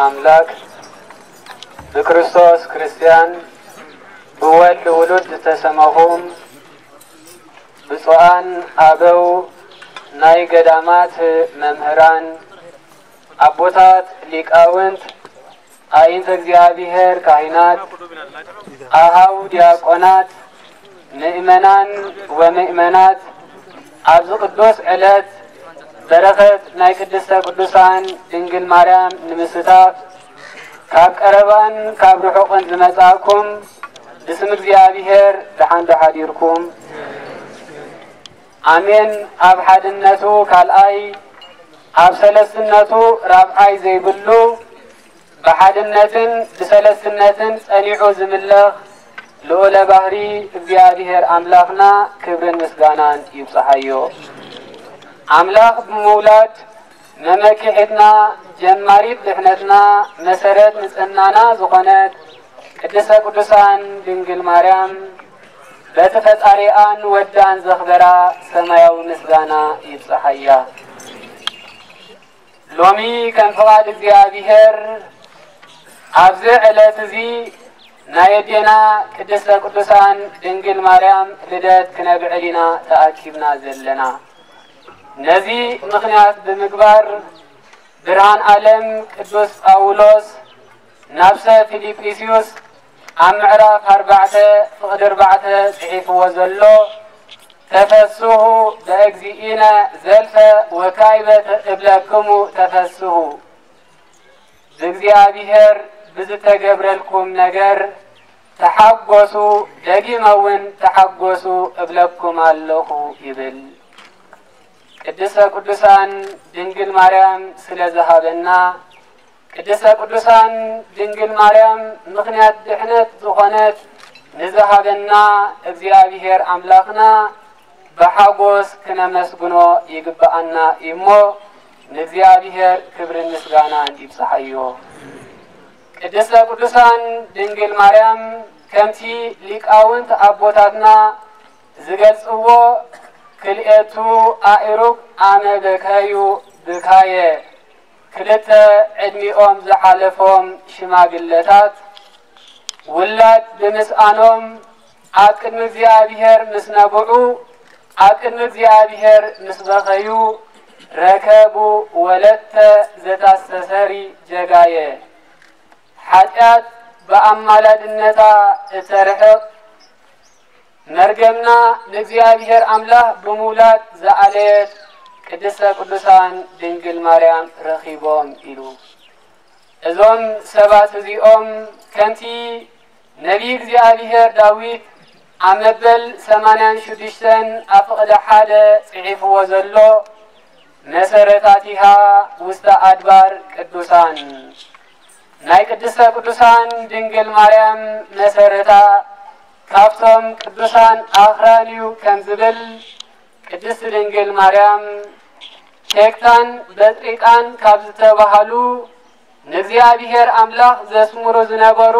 ኣምላክ ብክርስቶስ ክርስትያን ብወልድ ውሉድ ዝተሰመኹም ብፁዓን ኣበው ናይ ገዳማት መምህራን ኣቦታት ሊቃውንት ኣዒንተ እግዚኣብሔር ካህናት ኣሃው ዲያቆናት ምእመናን ወምእመናት ኣብዚ ቅዱስ ዕለት በረኸት ናይ ቅድስተ ቅዱሳን ድንግል ማርያም ንምስታፍ ካብ ቀረባን ካብ ርሑቕን ዝመጻእኩም ብስም እግዚኣብሔር ደሓን ዶ ሓዲርኩም? ኣሜን። ኣብ ሓድነቱ ካልኣይ ኣብ ሰለስትነቱ ራብዓይ ዘይብሉ ብሓድነትን ብሰለስትነትን ጸኒዑ ዝምለኽ ልዑለ ባህሪ እግዚኣብሔር ኣምላኽና ክብርን ምስጋናን ይብጽሓዮ። ኣምላኽ ብምውላድ መመኪሒትና ጀማሪት ድሕነትና መሰረት ንጽህናና ዝኾነት ቅድስተ ቅዱሳን ድንግል ማርያም በቲ ፈጣሪኣን ወዳን ዘኽበራ ሰማያዊ ምስጋና ይብጽሓያ። ሎሚ ከም ፍቓድ እግዚኣብሔር ኣብዚ ዕለት እዚ ናይ ኣዴና ቅድስተ ቅዱሳን ድንግል ማርያም ልደት ክነብዕል ኢና ተኣኪብና ዘለና። ነዚ ምኽንያት ብምግባር ብርሃን ዓለም ቅዱስ ጳውሎስ ናብ ሰብ ፊልጵስዩስ ኣብ ምዕራፍ ኣርባዕተ ፍቕዲ ኣርባዕተ ጽሒፍዎ ዘሎ ተፈስሑ በእግዚእነ ዘልፈ ወካይበ እብለክሙ ተፈስሑ ብእግዚኣብሔር ብዝተገብረልኩም ነገር ተሓጎሱ፣ ደጊመ እውን ተሓጎሱ እብለኩም ኣለኹ ይብል። ቅድስተ ቅዱሳን ድንግል ማርያም ስለ ዝሃበና፣ ቅድስተ ቅዱሳን ድንግል ማርያም ምኽንያት ድሕነት ዝኾነት ንዝሃበና እግዚኣብሔር ኣምላኽና ብሓጎስ ክነመስግኖ ይግብኣና እዩ እሞ ንእግዚኣብሔር ክብርን ምስጋናን ይብጽሓዮ። ቅድስተ ቅዱሳን ድንግል ማርያም ከምቲ ሊቃውንት ኣቦታትና ዝገልጽዎ ክልኤቱ ኣእሩግ ኣመ በከዩ ብካየ ክልተ ዕድሚኦም ዝሓለፎም ሽማግለታት ውላድ ብምስኣኖም ኣብ ቅድሚ እግዚኣብሔር ምስ ነብዑ ኣብ ቅድሚ እግዚኣብሔር ምስ በኸዩ ረከቡ ወለተ ዘታስተሰሪ ጀጋየ ሓጢኣት ብኣማላድነታ እተርሕቕ መርገምና ንእግዚኣብሔር ኣምላኽ ብምውላድ ዝኣለየት ቅድስተ ቅዱሳን ድንግል ማርያም ረኺቦም ኢሉ። እዞም ሰባት እዚኦም ከምቲ ነቢይ እግዚኣብሔር ዳዊት ኣብ መበል ሰማንያን ሽዱሽተን ኣብ ፍቕዲ ሓደ ጽሒፍዎ ዘሎ መሰረታቲሃ ውስተ ኣድባር ቅዱሳን ናይ ቅድስተ ቅዱሳን ድንግል ማርያም መሰረታ ካብቶም ቅዱሳን ኣኽራን እዩ ከም ዝብል ቅድስት ድንግል ማርያም ቴክታን በጥሪቃን ካብ ዝተባሃሉ ንእግዚኣብሔር ኣምላኽ ዘስምሩ ዝነበሩ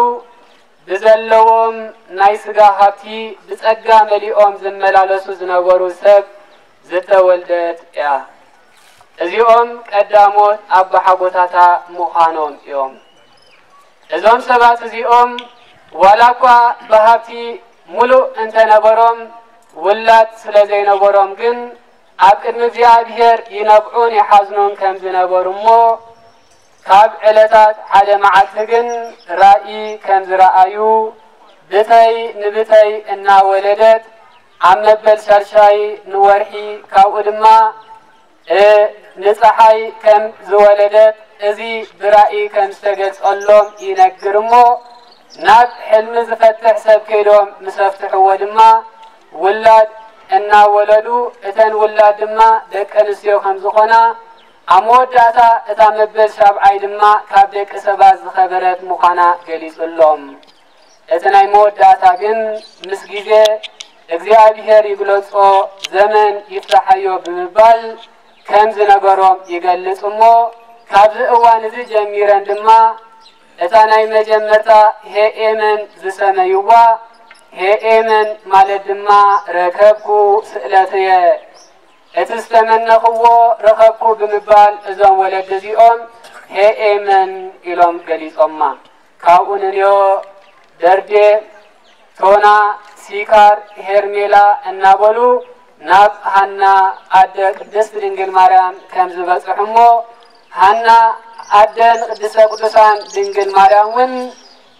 ብዘለዎም ናይ ስጋ ሃብቲ ብጸጋ መሊኦም ዝመላለሱ ዝነበሩ ሰብ ዝተወልደት እያ። እዚኦም ቀዳሞት ኣባሓጎታታ ምዃኖም እዮም። እዞም ሰባት እዚኦም ዋላ እኳ ብሃብቲ ሙሉእ እንተነበሮም ውላድ ስለ ዘይነበሮም ግን ኣብ ቅድሚ እግዚኣብሔር ይነብዑን ይሓዝኑን ከም ዝነበሩ እሞ ካብ ዕለታት ሓደ መዓልቲ ግን ራእይ ከም ዝረኣዩ ብተይ ንብተይ እናወለደት ኣብ መበል ሻድሻይ ንወርሒ ካብኡ ድማ ንፀሓይ ከም ዝወለደት እዚ ብራእይ ከም ዝተገልጸሎም ይነግር እሞ ናብ ሕልሚ ዝፈትሕ ሰብ ከይዶም ምስ ኣፍትሕዎ ድማ ውላድ እናወለዱ እተን ውላድ ድማ ደቂ ኣንስትዮ ከም ዝኾና ኣብ መወዳእታ እታ መበል ሻብዓይ ድማ ካብ ደቂ ሰባት ዝኸበረት ምዃና ገሊጹሎም። እቲ ናይ መወዳእታ ግን ምስ ግዜ እግዚኣብሔር ይግለጾ ዘመን ይፍታሓዮ ብምባል ከም ዝነገሮም ይገልጽ እሞ ካብዚ እዋን እዚ ጀሚረን ድማ እታ ናይ መጀመርታ ሄኤመን ዝሰመይዋ ሄኤመን ማለት ድማ ረከብኩ ስእለትየ እቲ ዝተመነኽዎ ረኸብኩ ብምባል እዞም ወለዲ እዚኦም ሄኤመን ኢሎም ገሊጾማ። ካብኡ ንንዮ ደርዴ፣ ቶና፣ ሲካር፣ ሄርሜላ እናበሉ ናብ ሃና ኣደ ቅድስት ድንግል ማርያም ከም ዝበጽሑ እሞ፣ ሃና ኣደ ንቅድስተ ቅዱሳን ድንግል ማርያም እውን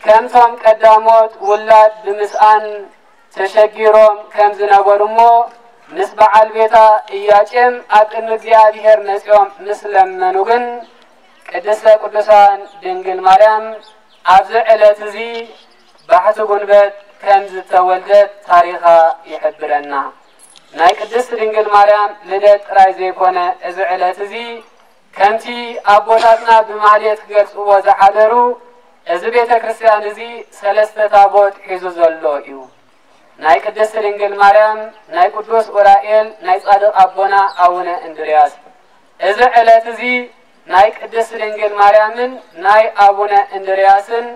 ከምቶም ቀዳሞት ውላድ ብምስኣን ተሸጊሮም ከም ዝነበሩ እሞ፣ ምስ በዓል ቤታ ኢያቄም ኣብ ቅድሚ እግዚኣብሔር መጺኦም ምስ ለመኑ ግን፣ ቅድስተ ቅዱሳን ድንግል ማርያም ኣብዚ ዕለት እዚ ባሕቲ ጉንበት ከም ዝተወልደት ታሪኻ ይሕብረና። ናይ ቅድስት ድንግል ማርያም ልደት ጥራይ ዘይኮነ፣ እዚ ዕለት እዚ ከምቲ ኣቦታትና ብማህሌት ክገልጽዎ ዝሓደሩ፣ እዚ ቤተ ክርስቲያን እዚ ሰለስተ ታቦት ሒዙ ዘሎ እዩ። ናይ ቅድስት ድንግል ማርያም፣ ናይ ቅዱስ ኡራኤል፣ ናይ ጻድቕ ኣቦና ኣቡነ እንድርያስ። እዚ ዕለት እዚ ናይ ቅድስት ድንግል ማርያምን ናይ ኣቡነ እንድርያስን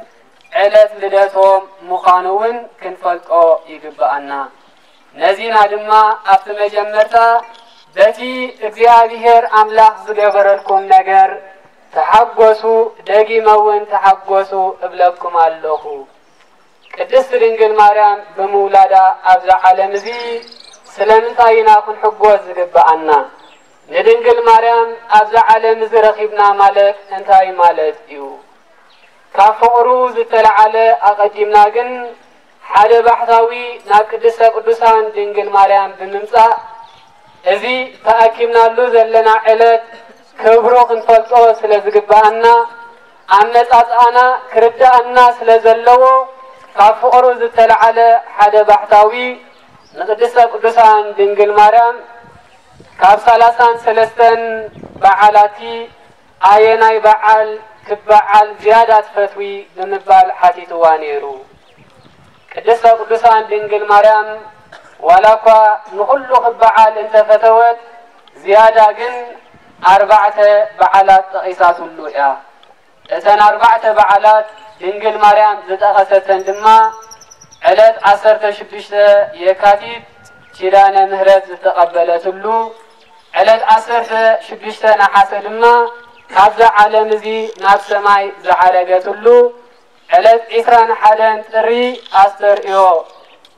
ዕለት ልደቶም ምዃኑ እውን ክንፈልጦ ይግብኣና። ነዚና ድማ ኣብቲ መጀመርታ በቲ እግዚኣብሔር ኣምላኽ ዝገበረልኩም ነገር ተሓጎሱ፣ ደጊመ እውን ተሓጎሱ እብለኩም ኣለኹ። ቅድስት ድንግል ማርያም ብምውላዳ ኣብዛ ዓለም እዚ ስለምንታይ ኢና ክንሕጎስ ዝግብኣና? ንድንግል ማርያም ኣብዛ ዓለም እዚ ረኺብና ማለት እንታይ ማለት እዩ? ካብ ፍቕሩ ዝተለዓለ ኣቐዲምና ግን ሓደ ባሕታዊ ናብ ቅድስተ ቅዱሳን ድንግል ማርያም ብምምጻእ እዚ ተኣኪብናሉ ዘለና ዕለት ክብሩ ክንፈልጦ ስለ ዝግብኣና፣ ኣመጻጽኣና ክርድኣና ስለ ዘለዎ፣ ካብ ፍቕሩ ዝተለዓለ ሓደ ባሕታዊ ንቅድስተ ቅዱሳን ድንግል ማርያም ካብ ሰላሳን ሰለስተን በዓላቲ ኣየናይ በዓል ክበዓል ዝያዳ ትፈትዊ ብምባል ሓቲትዋ ነይሩ። ቅድስተ ቅዱሳን ድንግል ማርያም ዋላ እኳ ንኹሉ ክበዓል እንተፈተወት፣ ዝያዳ ግን ኣርባዕተ በዓላት ጠቒሳትሉ እያ። እተን ኣርባዕተ በዓላት ድንግል ማርያም ዝጠቐሰተን ድማ ዕለት ዓሰርተ ሽዱሽተ የካቲት ኪዳነ ምሕረት ዝተቐበለትሉ፣ ዕለት ዓሰርተ ሽዱሽተ ነሓሰ ድማ ካብዛ ዓለም እዚ ናብ ሰማይ ዝዓረገትሉ፣ ዕለት ዒስራን ሓደን ጥሪ ኣስተርእዮ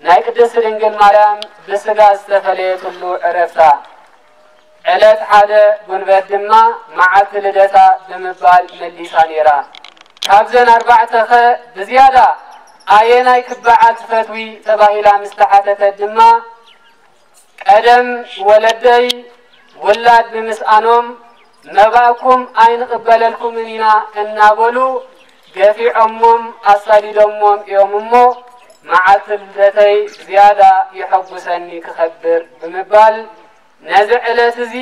ናይ ቅድስት ድንግል ማርያም ብስጋ ዝተፈለየትሉ ዕረፍታ፣ ዕለት ሓደ ጉንበት ድማ መዓልቲ ልደታ ብምባል መሊሳ ነይራ። ካብዘን ኣርባዕተኸ ብዝያዳ ኣየናይ ክበዓል ትፈትዊ ተባሂላ ምስ ተሓተተት ድማ፣ ቀደም ወለደይ ውላድ ብምስኣኖም መባእኩም ኣይንቕበለልኩምን ኢና እናበሉ ገፊዖሞም ኣሳዲዶሞም እዮም እሞ፣ መዓልቲ ልደተይ ዝያዳ የሐጉሰኒ ክኸብር ብምባል፣ ነዚ ዕለት እዚ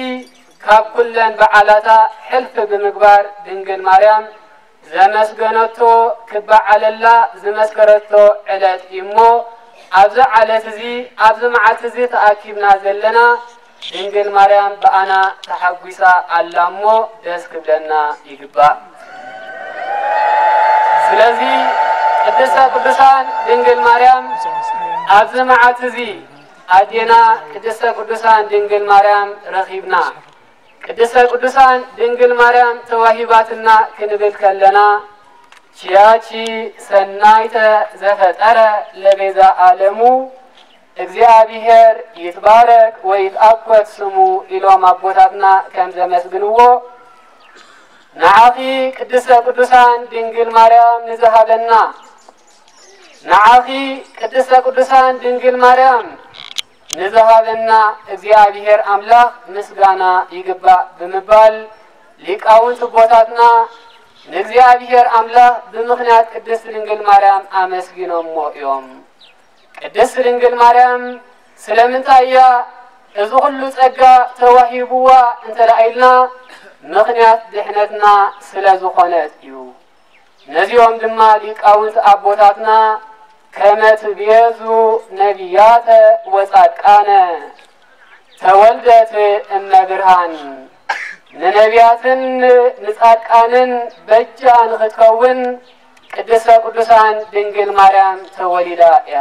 ካብ ኩለን በዓላታ ሕልፍ ብምግባር ድንግል ማርያም ዘመስገነቶ ክበዓለላ ዝመስከረቶ ዕለት እዩ እሞ፣ ኣብዚ ዓለት እዚ ኣብዚ መዓልቲ እዚ ተኣኪብና ዘለና ድንግል ማርያም ብኣና ተሓጒሳ ኣላ እሞ ደስ ክብለና ይግባእ። ስለዚ ቅድስተ ቅዱሳን ድንግል ማርያም ኣብዚ መዓልቲ እዚ ኣዴና ቅድስተ ቅዱሳን ድንግል ማርያም ረኺብና። ቅድስተ ቅዱሳን ድንግል ማርያም ተዋሂባትና ክንብል ከለና፣ ችያቺ ሰናይተ ዘፈጠረ ለቤዛ ዓለሙ እግዚኣብሔር ይትባረክ ወይትኣኮት ስሙ ኢሎም ኣቦታትና ከም ዘመስግንዎ፣ ንዓኺ ቅድስተ ቅዱሳን ድንግል ማርያም ንዝሃበና፣ ንዓኺ ቅድስተ ቅዱሳን ድንግል ማርያም ንዝሃበና እግዚኣብሔር ኣምላኽ ምስጋና ይግባእ ብምባል ሊቃውንት ኣቦታትና ንእግዚኣብሔር ኣምላኽ ብምኽንያት ቅድስት ድንግል ማርያም ኣመስጊኖሞ እዮም። ቅድስት ድንግል ማርያም ስለምንታይ እያ እዚ ኩሉ ጸጋ ተዋሂብዋ እንተ ደኣ ኢልና፣ ምኽንያት ድሕነትና ስለ ዝኾነት እዩ። ነዚኦም ድማ ሊቃውንት ኣቦታትና ከመ ትቤዙ ነቢያተ ወጻድቃነ ተወልደት እመ ብርሃን፣ ንነቢያትን ንጻድቃንን በጃ ንኽትከውን ቅድስተ ቅዱሳን ድንግል ማርያም ተወሊዳ እያ።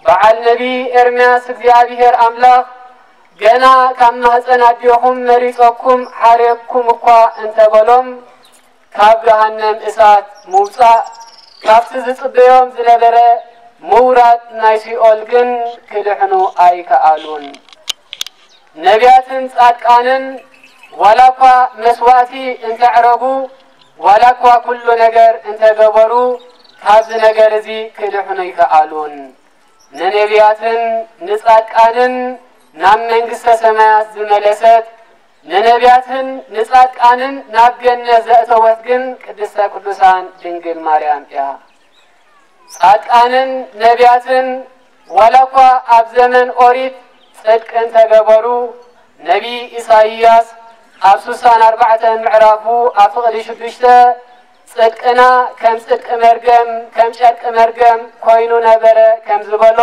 በዓል ነቢይ ኤርምያስ እግዚኣብሔር ኣምላኽ ገና ካብ ማህፀን ኣዴኹም መሪጸኩም ሓሬኩም እኳ እንተበሎም፣ ካብ ገሃነም እሳት ምውጻእ፣ ካብቲ ዝጽበዮም ዝነበረ ምውራድ ናይ ሲኦል ግን ክድሕኑ ኣይከኣሉን። ነቢያትን ጻድቃንን ዋላ እኳ መስዋእቲ እንተዕረጉ፣ ዋላ እኳ ኩሉ ነገር እንተገበሩ፣ ካብዚ ነገር እዚ ክድሕኑ ኣይከኣሉን። ንነቢያትን ንጻድቃንን ናብ መንግስተ ሰማያት ዝመለሰት፣ ንነቢያትን ንጻድቃንን ናብ ገነት ዘእተወት ግን ቅድስተ ቅዱሳን ድንግል ማርያም እያ። ጻድቃንን ነቢያትን ዋላ እኳ ኣብ ዘመን ኦሪት ጽድቂ እንተገበሩ፣ ነቢ ኢሳይያስ ኣብ ስሳን ኣርባዕተን ምዕራፉ ኣብ ፍቕዲ ሽዱሽተ፣ ጽድቅና ከም ጽድቂ መርገም፣ ከም ጨርቂ መርገም ኮይኑ ነበረ ከም ዝበሎ፣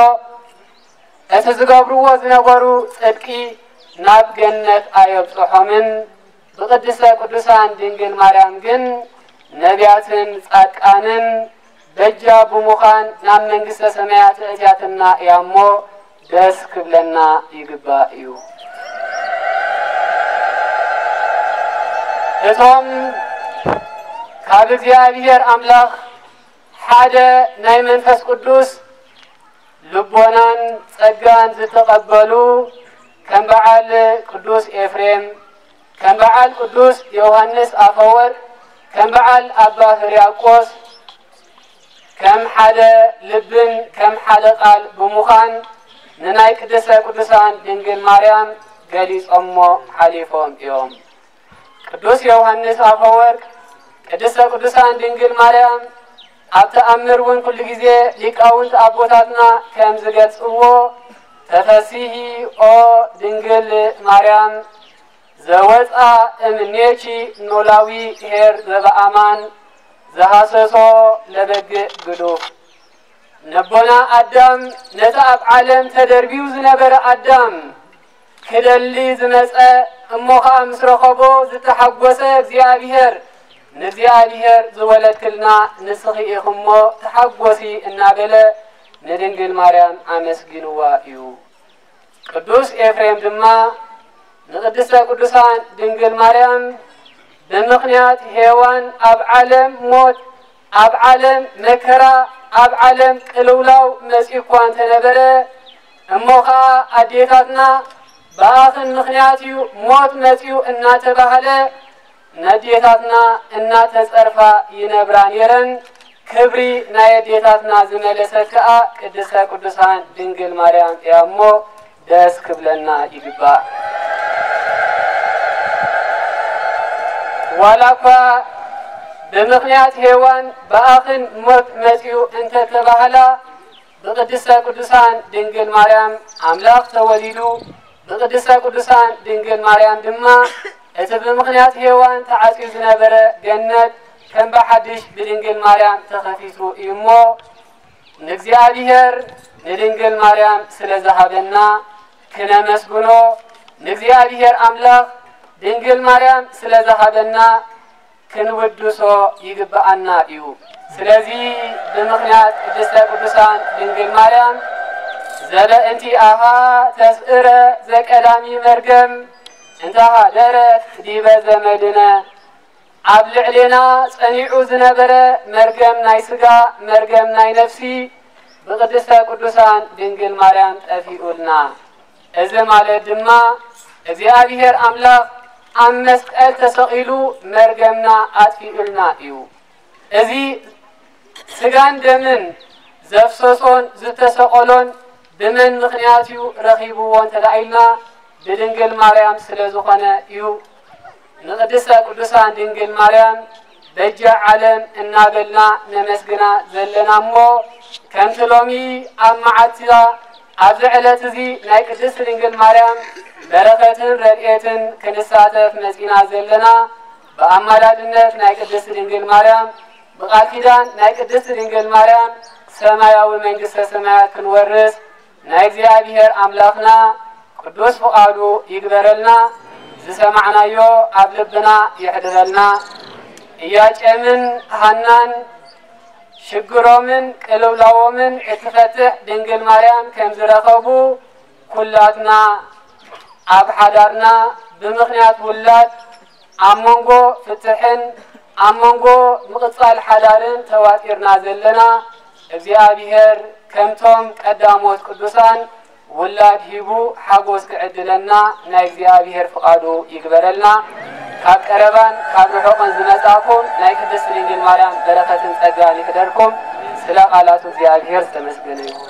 እቲ ዝገብርዎ ዝነበሩ ጽድቂ ናብ ገነት ኣየብጽሖምን። ብቅድስተ ቅዱሳን ድንግል ማርያም ግን ነቢያትን ጻድቃንን በጃ ብምዃን ናብ መንግስተ ሰማያት እእትያትና እያ እሞ፣ ደስ ክብለና ይግባእ እዩ። እቶም ካብ እግዚኣብሔር ኣምላኽ ሓደ ናይ መንፈስ ቅዱስ ልቦናን ጸጋን ዝተቐበሉ፣ ከም በዓል ቅዱስ ኤፍሬም፣ ከም በዓል ቅዱስ ዮሃንስ ኣፈወርቅ፣ ከም በዓል ኣባ ህርያቆስ፣ ከም ሓደ ልብን ከም ሓደ ቃል ብምዃን፣ ንናይ ቅድስተ ቅዱሳን ድንግል ማርያም ገሊጾሞ ሓሊፎም እዮም። ቅዱስ ዮሃንስ ኣፈወርቅ፣ ቅድስተ ቅዱሳን ድንግል ማርያም ኣብ ተኣምር እውን ኩሉ ግዜ ሊቃውንት ኣቦታትና ከም ዝገልጽዎ፣ "ተፈሲሂ ኦ ድንግል ማርያም፣ ዘወፃ እምኔኪ ኖላዊ ኄር ዘበኣማን፣ ዘሃሰሶ ለበግእ ግዱፍ።" ነቦና ኣዳም፣ ነቲ ኣብ ዓለም ተደርብዩ ዝነበረ ኣዳም ክደሊ ዝመጸ፣ እሞ ኸኣ ምስ ረኸቦ ዝተሓጎሰ እግዚኣብሔር፣ "ንእግዚኣብሔር ዝወለድክልና ንስኺ ኢኺ እሞ ተሓጎሲ" እናበለ ንድንግል ማርያም ኣመስጊንዋ እዩ። ቅዱስ ኤፍሬም ድማ ንቅድስተ ቅዱሳን ድንግል ማርያም፣ "ብምኽንያት ሄዋን ኣብ ዓለም ሞት፣ ኣብ ዓለም መከራ፣ ኣብ ዓለም ቅልውላው መጺኡ እኳ እንተነበረ፣ እሞ ኸኣ ኣዴታትና ብኣኽን ምኽንያት እዩ ሞት መጺኡ" እናተባህለ፣ ነዴታትና እናተጸርፋ ይነብራ ነይረን። ክብሪ ናይ ኣዴታትና ዝመለሰት ከኣ ቅድስተ ቅዱሳን ድንግል ማርያም እያ እሞ፣ ደስ ክብለና ይግባእ። ዋላ እኳ ብምኽንያት ሄዋን ብኣኽን ሞት መጺኡ እንተተባህላ፣ ብቅድስተ ቅዱሳን ድንግል ማርያም ኣምላኽ ተወሊዱ፣ ብቅድስተ ቅዱሳን ድንግል ማርያም ድማ እቲ ብምኽንያት ሄዋን ተዓጽዩ ዝነበረ ገነት ከም ብሓድሽ ብድንግል ማርያም ተኸፊቱ እዩ እሞ፣ ንእግዚኣብሔር ንድንግል ማርያም ስለ ዝሃበና ክነመስግኖ፣ ንእግዚኣብሔር ኣምላኽ ድንግል ማርያም ስለ ዝሃበና ክንውድሶ ይግብኣና እዩ። ስለዚ ብምኽንያት ቅድስተ ቅዱሳን ድንግል ማርያም፣ "ዘበእንቲኣሃ ተስእረ ዘቀዳሚ መርገም እንተ ሃደረት ዲበ ዘመድነ"፣ ኣብ ልዕሌና ጸኒዑ ዝነበረ መርገም ናይ ስጋ፣ መርገም ናይ ነፍሲ ብቅድስተ ቅዱሳን ድንግል ማርያም ጠፊኡልና። እዚ ማለት ድማ እግዚኣብሔር ኣምላኽ ኣብ መስቀል ተሰቒሉ መርገምና ኣጥፊኡልና እዩ። እዚ ስጋን ደምን ዘፍሰሶን ዝተሰቐሎን ብመን ምኽንያት እዩ ረኺብዎ እንተ ደኣ ኢልና፣ ብድንግል ማርያም ስለ ዝኾነ እዩ። ንቅድስተ ቅዱሳን ድንግል ማርያም በጃ ዓለም እናበልና ነመስግና ዘለና እሞ፣ ከምቲ ሎሚ ኣብ መዓልቲዛ ኣብዚ ዕለት እዚ ናይ ቅድስት ድንግል ማርያም በረኸትን ረድኤትን ክንሳተፍ መጺና ዘለና፣ ብኣማላድነት ናይ ቅድስት ድንግል ማርያም፣ ብቃል ኪዳን ናይ ቅድስት ድንግል ማርያም ሰማያዊ መንግስተ ሰማያት ክንወርስ ናይ እግዚኣብሔር ኣምላኽና ቅዱስ ፍቓዱ ይግበረልና። ዝሰማዕናዮ ኣብ ልብና የሕድረልና። ኢያቄምን ሃናን ሽግሮምን ቅልውላዎምን እትፈትሕ ድንግል ማርያም ከም ዝረኸቡ፣ ኩላትና ኣብ ሓዳርና ብምኽንያት ውላድ ኣብ መንጎ ፍትሕን ኣብ መንጎ ምቕጻል ሓዳርን ተዋጢርና ዘለና እግዚኣብሔር ከምቶም ቀዳሞት ቅዱሳን ውላድ ሂቡ ሓጎስ ክዕድለና ናይ እግዚኣብሔር ፍቓዱ ይግበረልና። ካብ ቀረባን ካብ ርሑቕን ዝመጻእኩም ናይ ቅድስት ድንግል ማርያም በረኸትን ጸጋን ይሕደርኩም። ስለ ቃላቱ እግዚኣብሔር ዝተመስገነ ይሁን።